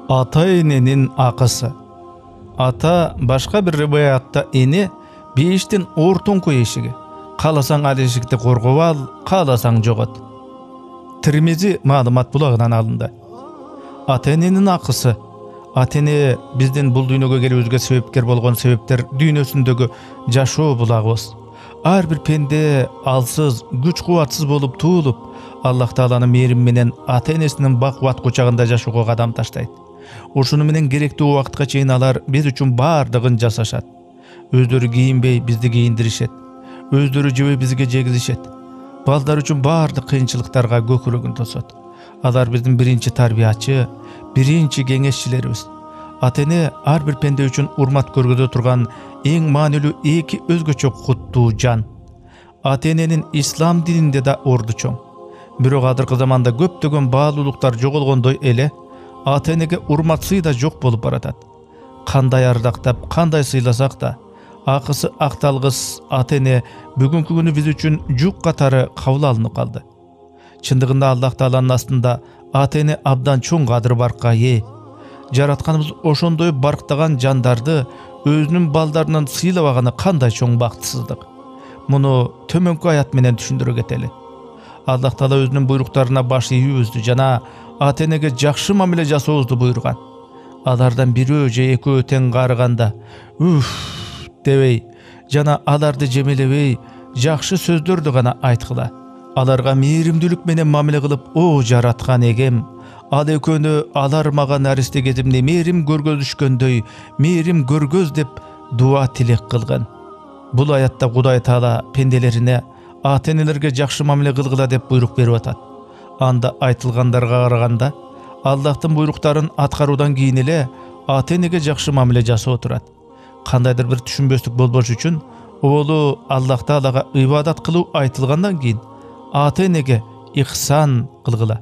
Ата-эненин акысы. Ата башка бир риваятта эне бейиштин ортоңку эшиги. Кааласаң ал эшикти коргоп ал, кааласаң жогот. Тирмизи маалымат булагынан алынды. Ата-эненин акысы. Ата-эне биздин бул дүйнөгө келүүбүзгө себепкер болгон себептер дүйнөсүндөгү жашоо булагыбыз. Ар бир пенде алсыз, күч кубатсыз болуп туулуп, Аллах Тааланын мээрими менен ата-энесинин бак-кубат кучагында жашоого кадам таштайт. Ошону менен керектүү убакытка чейин алар биз үчүн баардыгын жасашат. Өздөрү кийинбей бизди кийиндиришет. Өздөрү жебей бизге жегизишет. Балдар үчүн баардык кыйынчылыктарга көкүрөгүн тосот. Алар биздин биринчи тарбиячы, биринчи кеңешчилерибиз. Ата-эне ар бир пенде үчүн урмат көргөзө турган эң маанилүү эки өзгөчө куттуу жан. Ата-эненин ислам дининде да орду чоң. Бирок азыркы заманда көптөгөн баалуулуктар жоголгондой эле, ата-энеге урмат сый да жок болуп баратат. Кандай ардактап, кандай сыйласак да, акысы акталгыс ата-эне бүгүнкү күнү биз үчүн жук катары кабыл алынып калды. Чындыгында Аллах Тааланын астында ата-эне абдан чоң кадыр баркка ээ. Жаратканыбыз ошондой барктаган жандарды өзүнүн балдарынан сыйлабаганы кандай чоң бактысыздык. Муну төмөнкү аят менен түшүндүрө кетели. Аллах Таала өзүнүн буйруктарына баш ийүүбүздү жана ата-энеге жакшы мамиле жасообузду буйруган. Алардан бирөө же экөө тең карыганда дебей жана аларды жемелебей жакшы сөздөрдү гана айткыла. Аларга мээримдүүлүк менен мамиле кылып, о жараткан эгем, ал экөөнү алар мага наристе кезимде мээрим көргөзүшкөндөй мээрим көргөз деп дуа тилек кылган. Бул аятта Кудай Таала пенделерине ата-энелерге жакшы мамиле кылгыла деп буйрук берип атат. Анда айтылгандарга караганда, Аллахтын буйруктарын аткаруудан кийин эле ата-энеге жакшы мамиле жасоо турат. Кандайдыр бир түшүнбөстүк болбош үчүн оолу Аллах Таалага ибадат кылуу айтылгандан кийин ата-энеге ихсан кылгыла,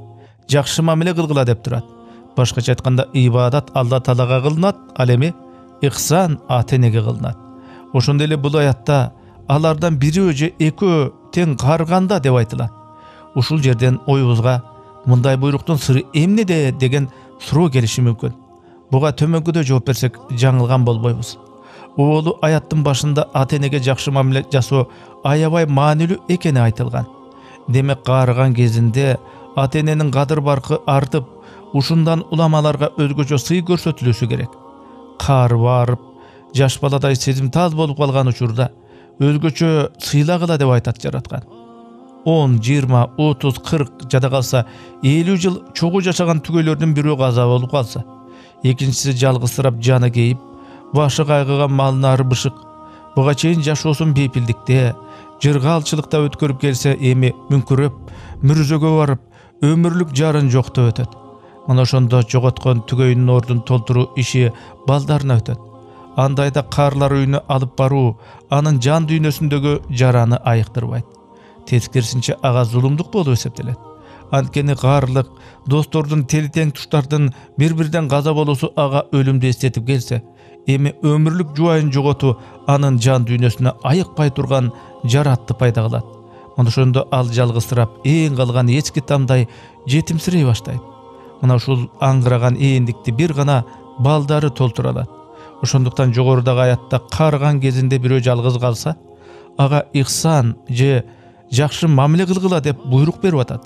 жакшы мамиле кылгыла деп турат. Башкача айтканда, ибадат Алла Таалага кылынат, ал эми ихсан ата-энеге кылынат. Ошондой эле бул аятта алардан бирөө же экөө тең карганда деп айтылат. Ушул жерден оюбузга мындай буйруктун сыры эмнеде деген суроо келиши мүмкүн. Буга төмөнкүдө жооп берсек жаңылган болбойбуз. Оолу аяттын башында ата-энеге жакшы мамиле жасоо аябай маанилүү экени айтылган. Демек каарыган кезинде ата-эненин кадыр баркы артып, ушундан уламаларга өзгөчө сый көрсөтүлүшү керек. Каар барып, жаш баладай сезимтал болуп калган учурда өзгөчө сыйлагыла деп айтат жараткан. 10, 20, 30, 40 жада калса 50 жыл чогуу жашаган түгөйлөрдүн бирөө каза болуп калса, экинчиси жалгызсырап жаны кейип, башы кайгыган малнары бышык, буга чейин жашоосун бейпилдикте, жыргаалчылыкта өткөрүп келсе, эми мүңкүрөп, мүрзөгө барып, өмүрлүк жарын жоктоп өтөт. Мына ошондо жоготкон түгөйүнүн ордун толтуруу иши балдарына өтөт. Андайда каарлар үйүнө алып баруу анын жан дүйнөсүндөгү жараны айыктырбайт. Тескерисинче ага зулумдук болуп эсептелет. Анткени каарлык достордун телтең туштардын бири-бирден каза болуусу ага өлүмдү эстетип келсе, эми өмүрлүк жубайын жоготуу анын жан дүйнөсүнө айыкпай турган жаратты пайда кылат. Мына ошондо ал жалгызсырап, эң калган эчки тамдай жетимсирей баштайт. Мына ушул аңгыраган ээндикти бир гана балдары толтура алат. Ошондуктан жогорудагы аятта каарыган кезинде бирөө жалгыз калса, ага ихсан же жакшы мамиле кылгыла деп буйрук берип атат.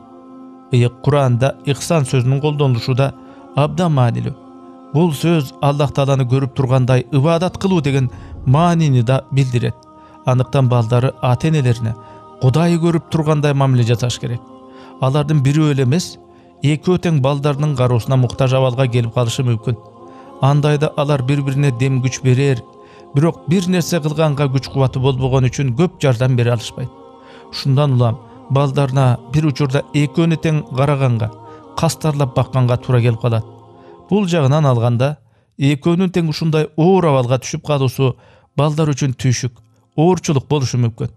Куранда ихсан сөзүнүн колдонулушу да абдан маанилүү. Бул сөз Аллах Тааланы көрүп тургандай ибадат кылуу деген маанини да билдирет. Андыктан балдары ата-энелерине Кудайы көрүп тургандай мамиле жасаш керек. Алардын бирөө эле эмес, экөө тең балдарынын кароосуна муктаж абалга келип калышы мүмкүн. Андайда алар бири-бирине дем күч берер, бирок бир нерсе кылганга күч кубаты болбогон үчүн көп жардам бере алышпайт. Ушундан улам балдарына бир учурда экөөнү тең караганга, кастарлап бакканга туура келип калат. Бул жагынан алганда, экөөнүн тең ушундай оор абалга түшүп калуусу балдар үчүн түйшүк, оорчулук болушу мүмкүн.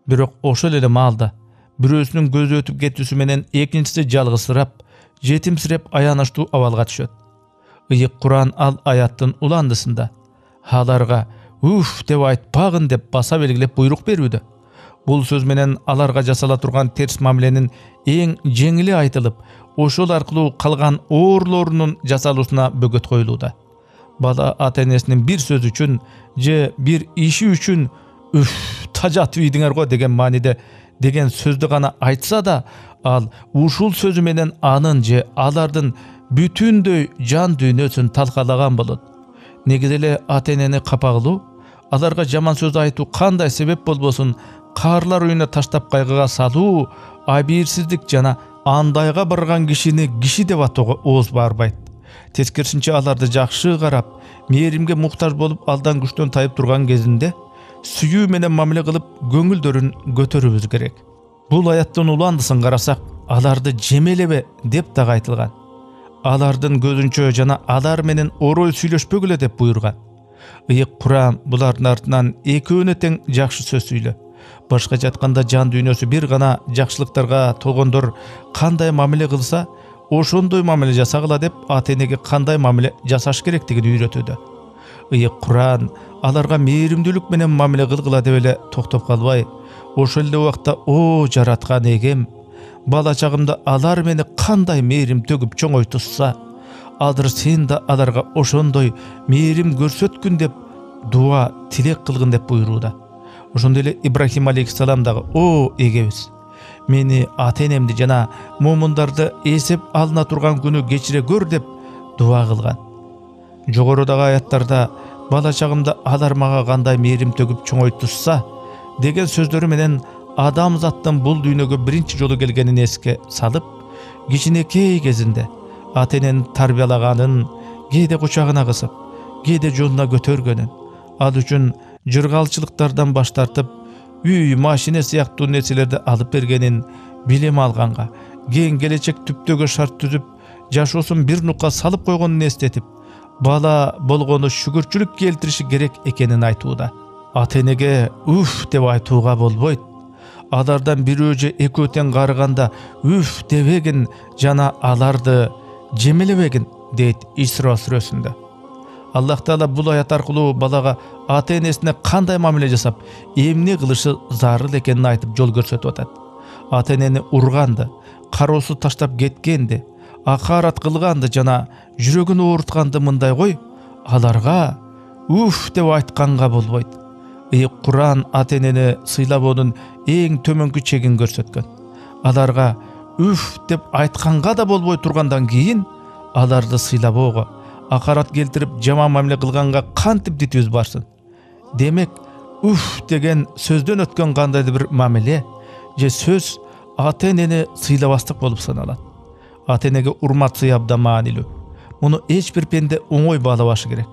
Бирок ошол эле маалда бирөөсүнүн көзү өтүп кетүүсү менен экинчиси жалгызсырап, жетимсиреп аянычтуу абалга түшөт. Ыйык Куран ал аяттын уландысында аларга деп айтпагын деп баса белгилеп буйрук берүүдө. Бул сөз менен аларга жасала турган терс мамиленин эң жеңили айтылып, ошол аркылуу калган оорлорунун жасалуусуна бөгөт коюлууда. Бала ата энесинин бир сөзү үчүн же бир иши үчүн тажатып ийдиңер го деген мааниде деген сөздү гана айтса да, ал ушул сөзү менен анын же алардын бүтүндөй жан дүйнөсүн талкалаган болот. Негизи эле ата энени капа кылуу, аларга жаман сөз айтуу кандай себеп болбосун каарлар үйүнө таштап кайгыга салуу, абийирсиздик жана андайга барган кишини киши деп атоого ооз барбайт. Тескерисинче аларды жакшы карап, мээримге муктаж болуп алдан күчтөн тайып турган кезинде сүйүү менен мамиле кылып көңүлдөрүн көтөрүбүз керек. Бул аяттын уландысын карасак, аларды жемелебе деп дагы айтылган. Алардын көзүнчө жана алар менен орой сүйлөшпөгүлө деп буйрган. Ыйык Куран булардын артынан экөөнө тең жакшы сөз сүйлө. Башкача айтканда, жан дүйнөсү бир гана жакшылыктарга толгондор кандай мамиле кылса, ошондой мамиле жасагыла деп ата энеге кандай мамиле жасаш керектигин үйрөтүүдө. Ыйык Куран аларга мээримдүүлүк менен мамиле кылгыла деп эле токтоп калбай, ошол эле убакта о жараткан эгем, бала чагымда алар мени кандай мээрим төгүп чоңойтушса, азыр сен да аларга ошондой мээрим көрсөткүн деп дуа тилек кылгын деп буйрууда. Ошондой эле Ибрахим алейхиссалам дагы о эгебиз, мени ата энемди жана момундарды эсеп алына турган күнү кечире көр деп дуа кылган. Жогорудагы аяттарда бала чагымда алар мага кандай мээрим төгүп чоңойтушса деген сөздөрү менен адамзаттын бул дүйнөгө биринчи жолу келгенин эске салып, кичинекей кезинде ата эненин тарбиялаганын, кээде кучагына кысып, кээде жонуна көтөргөнүн, ал үчүн жыргалчылыктардан баш тартып, үй, машина сыяктуу нерселерди алып бергенин, билим алганга, кең келечек түптөгө шарт түзүп, жашоосун бир нукка салып койгонун эстетип, бала болгону шүгүрчүлүк келтириши керек экенин айтууда. Ата энеге уф деп айтууга болбойт. Алардан бирөө же экөө тең карыганда уф дебегин жана аларды жемелебегин дейт Исра сүрөсүндө. Аллах Таала бул аят аркылуу балага ата энесине кандай мамиле жасап, эмне кылышы зарыл экенин айтып жол көрсөтүп атат. Ата энени урганды, кароосу таштап кеткенди, акарат кылганды жана жүрөгүн оорутканды мындай кой, аларга уф деп айтканга болбойт. Ыйык Куран ата энени сыйлабоонун эң төмөнкү чегин көрсөткөн. Аларга уф деп айтканга да болбой тургандан кийин аларды сыйлабоого, акарат келтирип жаман мамиле кылганга кантип дитибиз барсын? Демек, уф деген сөздөн өткөн кандайдыр бир мамиле же сөз ата энени сыйлабастык болуп саналат. Ата энеге урмат сый абдан маанилүү. Муну эч бир пенде оңой баалабашы керек.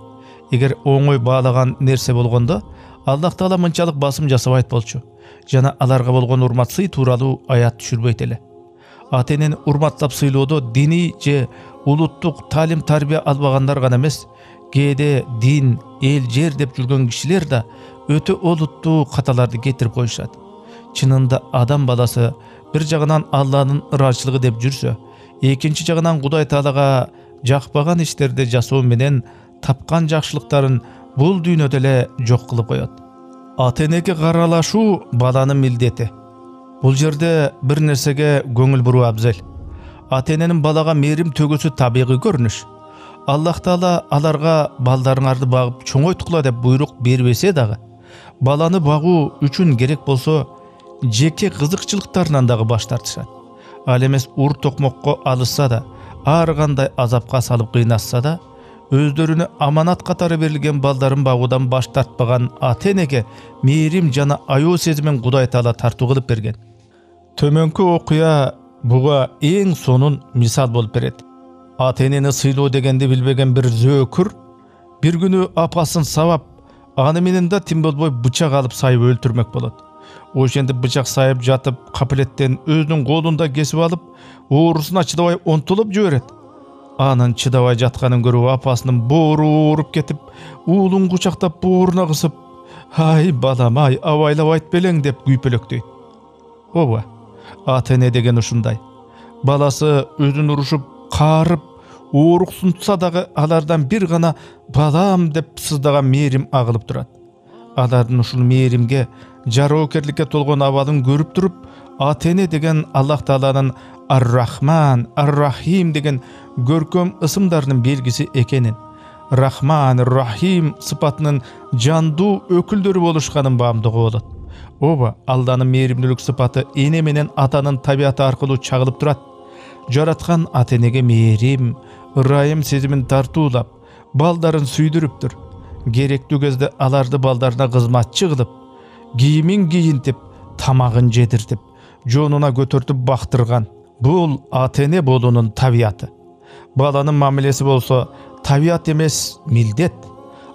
Эгер оңой баалаган нерсе болгондо, Аллах Таала мынчалык басым жасабайт болчу. Жана аларга болгон урмат сый тууралуу аят түшүрбөйт эле. Ата энени урматтап сыйлоодо диний же улуттук таалим тарбия албагандар гана эмес, кээде дин, эл, жер деп жүргөн кишилер да өтө олуттуу каталарды кетирип коюшат. Чынында адам баласы бир жагынан Алланын ыраазычылыгы деп жүрсө, экинчи жагынан Кудай Таалага жакпаган иштерди жасоо менен тапкан жакшылыктарын бул дүйнөдө эле жок кылып коет. Ата энеге каралашуу баланын милдети. Бул жерде бир нерсеге көңүл буруу абзел. Ата эненин балага мээрим төгүүсү табигый көрүнүш. Аллах Таала аларга балдарыңарды багып чоңойткула деп буйрук бербесе дагы, баланы багуу үчүн керек болсо жеке кызыкчылыктарынан дагы баш тартышат. Ал эмес ур токмокко алышса да, ар кандай азапка салып кыйнашса да, өздөрүнө аманат катары берилген балдарын багуудан баш тартпаган ата энеге мээрим жана аяоо сезимин Кудай Таала тартуу кылып берген. Төмөнкү окуя буга эң сонун мисал болуп берет. Ата энени сыйлоо дегенди билбеген бир зөөкүр бир күнү апасын сабап, аны менен да тим болбой бычак алып сайып өлтүрмөк болот. Ошентип бычак сайып жатып, капилеттен өзүнүн колунда кесип алып, оорусуна чыдабай онтулуп жиберет. Анын чыдабай жатканын көрүп апасынын боору ооруп кетип, уулун кучактап бооруна кысып, "Ай балам, ай, абайлап айтып белең" деп күйпөлөктөйт. Ооба, ата эне деген ушундай. Баласы өзүн урушуп, каарып, ооруксунтса дагы алардан бир гана балам деп сыздаган мээрим агылып турат. Алардын ушул мээримге, жароокерликке толгон абалын көрүп туруп, ата эне деген Аллах Тааланын ар-рахман, ар-рахим деген көркөм ысымдардын белгиси экенин, рахман, рахим сыпатынын жандуу өкүлдөрү болушканын баамдоого болот. Ооба, Алланын мээримдүүлүк сыпаты эне менен атанын табияты аркылуу чагылып турат. Жараткан ата-энеге мээрим, ырайым сезимин тартуулап, балдарын сүйдүрүптүр. Керектүү кезде аларды балдарына кызматчы кылып, кийимин кийинтип, тамагын жедиртип, жонуна көтөртүп бактырган. Бул ата-эне болуунун табияты. Баланын мамилеси болсо табият эмес, милдет.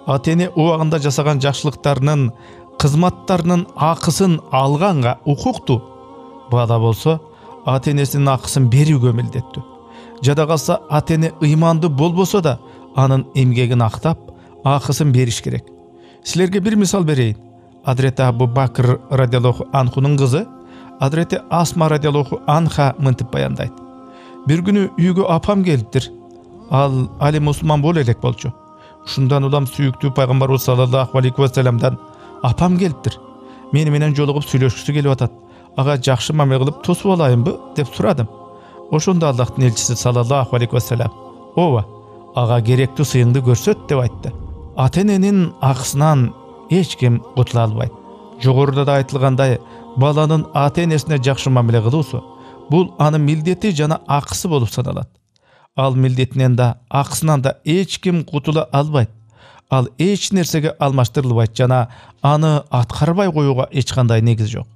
Ата-эне убагында жасаган жакшылыктарынын, кызматтарынын акысын алганга укуктуу. Бала болсо ата-энесинин акысын берүүгө милдеттүү. Жада калса ата-эне ыймандуу болбосо да анын эмгегин актап, акысын бериш керек. Силерге бир мисал берейин. Адрети Абу Бакр радиаллаху анхунун кызы Адрети Асма радиаллаху анха мынтип баяндайт. Бир күнү үйгө апам келиптир. Ал али мусулман боло элек болчу. Ушундан улам сүйүктүү пайгамбарыбыз саллаллаху алейхи ва салламдан апам келиптир. Мени менен жолугуп сүйлөшкүсү келип атат. Ага жакшы мамиле кылып тосуп алайынбы деп сурадым. Ошондо Аллахтын элчиси саллаллаху алейхи ва саллям: "Ооба, ага керектүү сыйыңды көрсөт" деп айтты. Ата-эненин акысынан эч ким кутула албайт. Жогоруда да айтылгандай, баланын ата-энесине жакшы мамиле кылуусу бул анын милдети жана акысы болуп саналат. Ал милдетинен да, акысынан да эч ким кутула албайт. Ал эч нерсеге алмаштырылбайт жана аны аткарбай коюуга эч кандай негиз жок.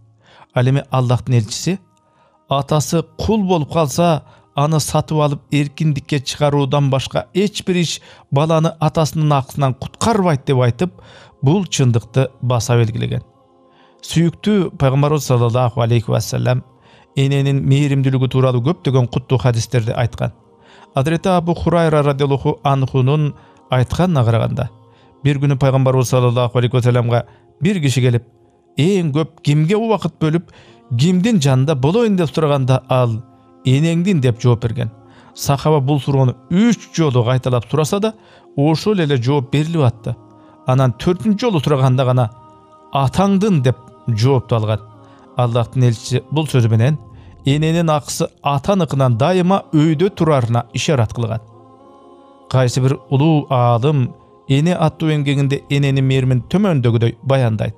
Ал эми Аллахтын элчиси атасы кул болуп калса, аны сатып алып эркиндикке чыгаруудан башка эч бир иш баланы атасынын акысынан куткарбайт деп айтып, бул чындыкты баса белгилеген. Сүйүктүү пайгамбарыбыз саллаллаху алейхи ва саллям эненин мээримдүүлүгү тууралуу көптөгөн куттуу хадистерди айткан. Адрети Абу Хурайра радиаллаху анхунун айтканына караганда, бир күнү пайгамбарыбыз саллаллаху алейхи ва саллямга бир киши келип, эң көп кимге убакыт бөлүп, кимдин жанында болоюн деп сураганда, ал энеңдин деп жооп берген. Сахаба бул суроону 3 жолу кайталап сураса да, ошол эле жооп берилип атты. Анан 4-нчү жолу сураганда гана атаңдын деп жоопту алган. Аллахтын элчиси бул сөзү менен эненин акысы атаныкынан дайыма өйдө турарына ишарат кылган. Кайсы бир улуу аалым эне аттуу эмгегинде эненин мээримин төмөндөгүдөй баяндайт.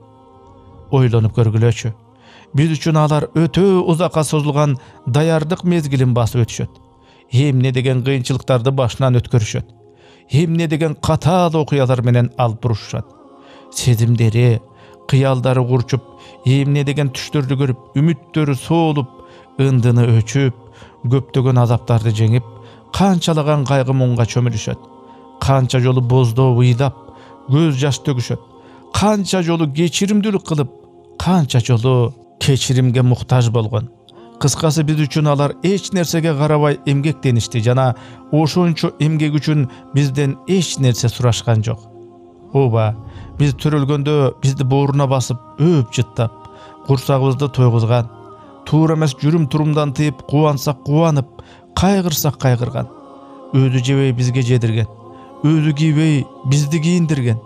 Ойлонуп көргүлөчү. Биз үчүн алар өтө узакка созулган даярдык мезгилин басып өтүшөт. Эмне деген кыйынчылыктарды башынан өткөрүшөт. Эмне деген катаал окуялар менен алып бурушушат. Сезимдери, кыялдары курчуп, эмне деген түштөрдү көрүп, үмүттөрү соолуп, ындыны өчүп, көптөгөн азаптарды жеңип, канчалаган кайгы муңга чөмүлүшөт. Канча жолу боздоп ыйлап, көз жаш төгүшөт. Канча жолу кечиримдүүлүк кылып, канча жолу кечиримге муктаж болгон. Кыскасы, биз үчүн алар эч нерсеге карабай эмгектеништи жана ошончо эмгек үчүн бизден эч нерсе сурашкан жок. Ооба, биз төрөлгөндө бизди бооруна басып, өөп жыттап, курсагыбызды тойгузган, туура эмес жүрүм-турумдан тыйып, кубансак кубанып, кайгырсак кайгырган. Өзү жебей бизге жедирген, өзү кийбей бизди кийиндирген,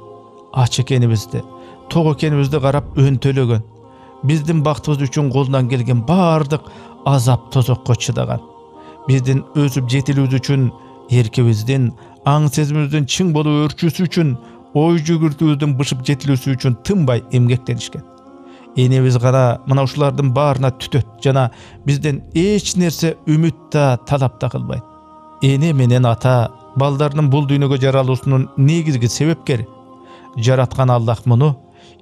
ач экенибизди, ток экенибизди карап өнтөлөгөн, биздин бактыбыз үчүн колунан келген баардык азап тозокко чыдаган. Биздин өсүп жетилүүбүз үчүн, эркибиздин, аң сезимибиздин чың болуп өрчүүсү үчүн, ой жүгүртүүбүздүн бышып жетилүүсү үчүн тынбай эмгектенишкен. Энебиз гана мына ушулардын баарына түтөт жана бизден эч нерсе үмүт да талап да кылбайт. Эне менен ата балдарынын бул дүйнөгө жаралуусунун негизги себепкери. Жараткан Аллах муну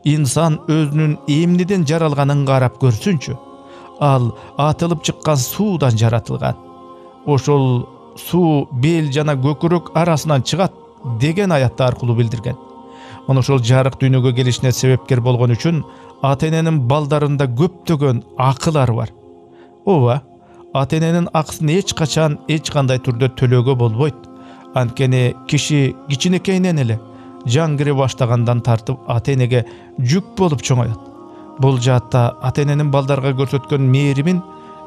инсан өзүнүн эмнеден жаралганын карап көрсүнчү. Ал атылып чыккан суудан жаратылган. Ошол суу бел жана көкүрөк арасынан чыгат деген аятты аркылуу билдирген. Мына ошол жарык дүйнөгө келишине себепкер болгон үчүн ата-эненин балдарында көптөгөн акылар бар. Ооба, ата-эненин акысын эч качан эч кандай түрдө төлөөгө болбойт. Анткени киши кичинекейинен эле жан кире баштагандан тартып ата-энеге жүк болуп чоңоет. Бул жаатта ата-эненин балдарга көрсөткөн мээримин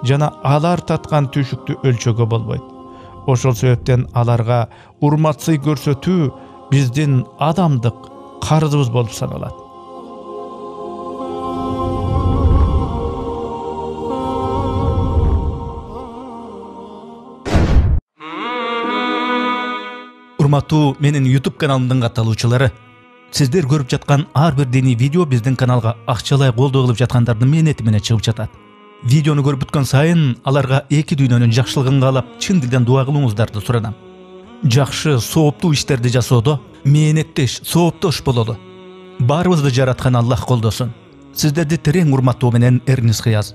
жана алар таткан түйшүктү өлчөөгө болбойт. Ошол себептен аларга урмат-сый көрсөтүү биздин адамдык карызыбыз болуп саналат. Урматтуу менин YouTube каналымдын катталуучулары, сиздер көрүп жаткан ар бир диний видео биздин каналга акчалай колдоо кылып жаткандардын мээнети менен чыгып жатат. Видеону көрүп бүткөн сайын аларга эки дүйнөнүн жакшылыгын каалап, чын дилден дуа кылууңуздарды суранам. Жакшы, сооптуу иштерди жасоодо мээнеттеш, сооптош бололу. Баарыбызды жараткан Аллах колдосун. Сиздерди терең урматтоо менен Эрнис Кыяз.